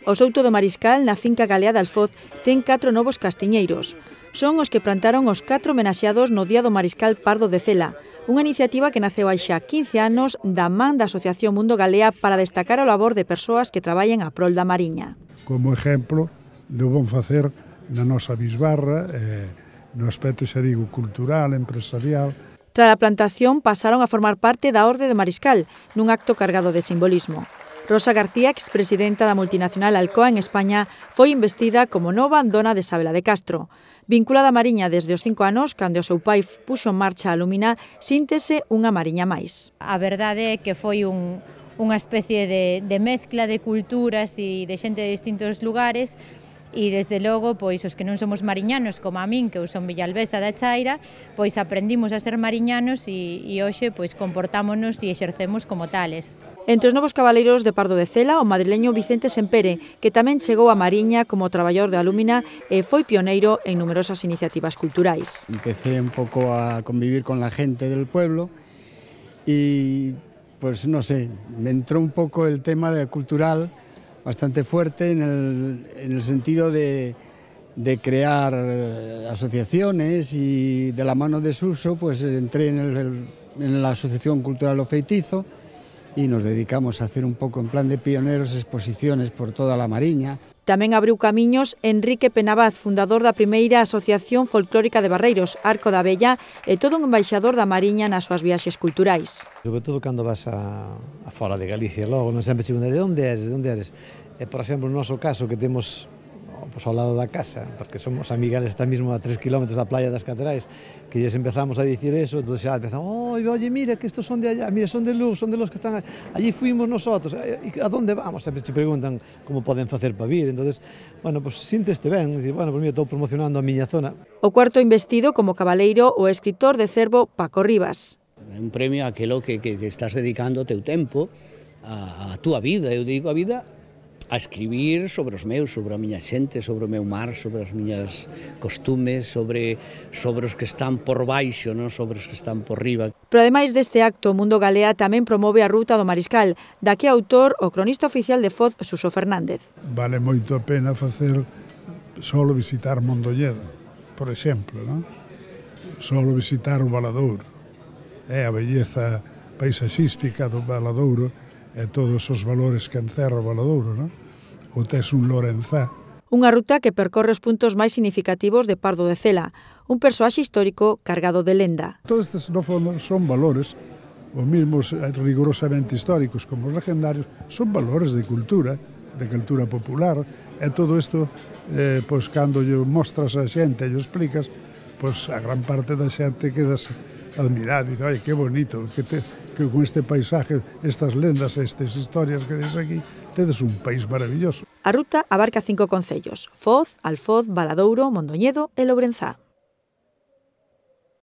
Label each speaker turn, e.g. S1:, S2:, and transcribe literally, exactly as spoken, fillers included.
S1: O Souto do Mariscal, na finca Galea de Alfoz, ten catro novos castiñeiros. Son os que plantaron os catro homenaxeados no Día do Mariscal Pardo de Cela, unha iniciativa que naceu hai xa quince anos da man da Asociación Mundo Galea para destacar o labor de persoas que traballen a prol da mariña.
S2: Como exemplo do bon facer na nosa bisbarra, eh, no aspecto, xa digo, cultural, empresarial.
S1: Tras a plantación pasaron a formar parte da Orde de Mariscal, nun acto cargado de simbolismo. Rosa García, expresidenta da multinacional Alcoa en España, foi investida como nova dona de Sabela de Castro. Vinculada á mariña desde os cinco anos, cando o seu pai puxo en marcha a Lumina, síntese unha mariña máis.
S3: A verdade é que foi un, unha especie de, de mezcla de culturas e de xente de distintos lugares, e desde logo, pois os que non somos mariñanos como a min, que eu son villalbesa da Chaira, pois aprendimos a ser mariñanos e, e hoxe pois comportámonos e exercemos como tales.
S1: Entre os novos cabaleiros de Pardo de Cela, o madrileño Vicente Sempere, que tamén chegou a Mariña como traballador de Alumina e foi pioneiro en numerosas iniciativas culturais.
S4: Empecé un pouco a convivir con la gente del pueblo y, pues no sé, me entró un poco el tema de cultural bastante fuerte en el, en el sentido de, de crear asociaciones y de la mano de Suso pues entré en, el, en la Asociación Cultural O Feitizo y nos dedicamos a hacer un poco en plan de pioneros exposiciones por toda la Mariña.
S1: Tamén abriu camiños Enrique Penabaz, fundador da primeira Asociación Folclórica de Barreiros, Arco da Vella, e todo un embaixador da Mariña nas súas viaxes culturais.
S5: Sobre todo cando vas a, a fora de Galicia, logo non sempre che preguntan de onde eres, de onde eres. E, por exemplo, no noso caso que temos pues, ao lado da casa, porque somos amigales, está mismo a tres kilómetros da playa das Caterais, que lles empezamos a dicir eso, entón xa empezamos, oh, oye, mira, que estos son de allá, mira, son de Luz, son de los que están allí, fuimos nosotros, e a dónde vamos? Sempre te preguntan como poden facer para vir, entonces, bueno, pues sínteste ben, dicir, bueno, pues mira, estou promocionando a miña zona.
S1: O cuarto investido como cabaleiro o escritor de Cervo Paco Rivas.
S6: É un premio aquelo que, que estás dedicando o teu tempo, a, a túa vida, eu digo a vida, a escribir sobre os meus, sobre a miña xente, sobre o meu mar, sobre as miñas costumes, sobre, sobre os que están por baixo, non sobre os que están por riba.
S1: Pero ademais deste acto, o Mundo Galea tamén promove a Ruta do Mariscal, da que é autor o cronista oficial de Foz, Suso Fernández.
S2: Vale moito a pena facer solo visitar Mondoñedo, por exemplo, non? Solo visitar o Valadouro, é a belleza paisaxística do Valadouro, e todos os valores que encerra o Valadouro, non? Ou tes un Lorenzá.
S1: Unha ruta que percorre os puntos máis significativos de Pardo de Cela, un persoaxe histórico cargado de lenda.
S2: Todos estes, no fondo, son valores, os mesmos rigorosamente históricos como os legendarios, son valores de cultura, de cultura popular, e todo isto, eh, pois, cando lle mostras a xente e lle explicas, pois, a gran parte da xente quedas admirado, dice, oye, que bonito, que, te, que con este paisaje, estas lendas, estas historias que des aquí, tedes un país maravilloso.
S1: A ruta abarca cinco concellos: Foz, Alfoz, Valadouro, Mondoñedo e Lourenzá.